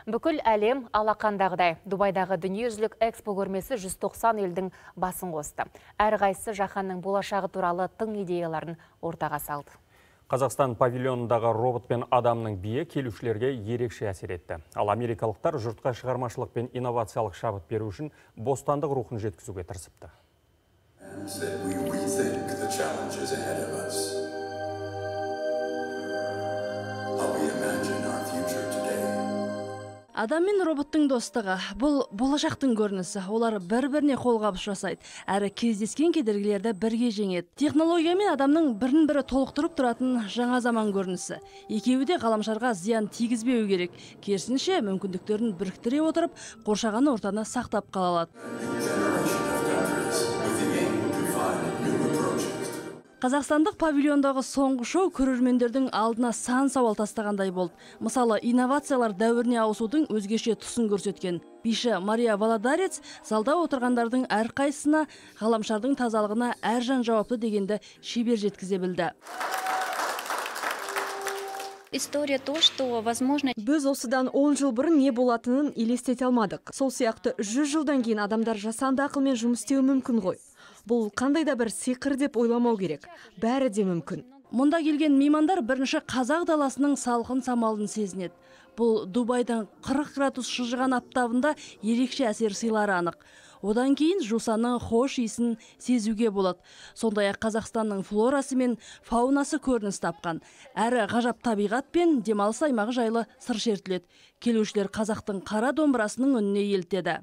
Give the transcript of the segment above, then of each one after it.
Бүкіл әлем алақандағыдай. Дубайдағы дүниежүзілік экспо көрмесі 190 елдің басын қосты. Әрқайсысы жаһанның болашағы туралы тың идеяларын ортаға салды. Қазақстан павильонындағы робот пен адамның биі келушілерге ерекше әсер етті. Ал америкалықтар жұртқа шығармашылық пен инновациялық шабыт беру үшін бостандық рухын жеткізуге тырысыпты. Адам мен роботтың достығы – бұл болашақтың көрінісі. Олар бір-біріне қолғабыс жасайды, әрі кездескен кедергілерді бірге жеңеді. Технология мен адамның бірін-бірі толықтырып тұратын жаңа заман көрінісі. Екеуі де ғаламшарға зиян тигізбеу керек. Керісінше, мүмкіндіктерін біріктіре отырып, қоршаған ортаны сақтап қала алады. Қазақстандық павильондағы соңғы шоу көрермендердің алдына сан сауал тастағандай болды. Мысалы, инновациялар дәуіріне ауысудың өзгеше тұсын көрсеткен. Биші Мария Валадарец залда отырғандардың әрқайсысына ғаламшардың тазалығына әр жан жауапты дегенді шебер жеткізе білді. Біз осыдан 10 жыл бұрын не болатынын елестете алмадық. Сол сияқты 100 жылдан кейін адамдар жасанды ақылмен жұмыс істеуі мүмкін ғой. Бұл қандай да бір сиқыр деп ойламау керек. Бәрі де мүмкін. Мұнда келген меймандар бірінші қазақ даласының салқын самалын сезінеді. Бұл Дубайдан 40 градус шыжыған аптабында ерекше әсер сыйлары анық. Одан кейін жусанның хош иісін сезуге болады. Сондай-ақ Қазақстанның флорасы мен фаунасы көрініс тапқан. Әрі ғажап табиғат пен демалыс аймағы жайлы сыр шертіледі. Келушілер қазақтың қара домбырасының үніне елтеді.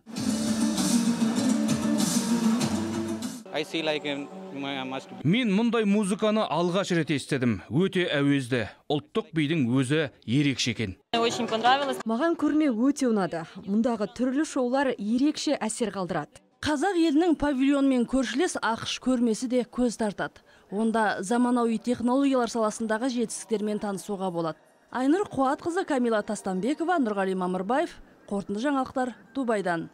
Мен мұндай музыканы алғаш рет естідім. Өте әуезді. Ұлттық бидің өзі ерекше екен. Маған көрме өте ұнады. Мұндағы түрлі шоулар ерекше әсер қалдырады. Қазақ елінің павильонмен көршілес ақш көрмесі де көз тартады. Онда заманауи технологиялар саласындағы жетістіктермен танысуға болады. Айнұр Қуатқызы, Камила Тастанбекова, Нұрғали Мамырбаев, қорытынды жаңалықтар Дубайдан.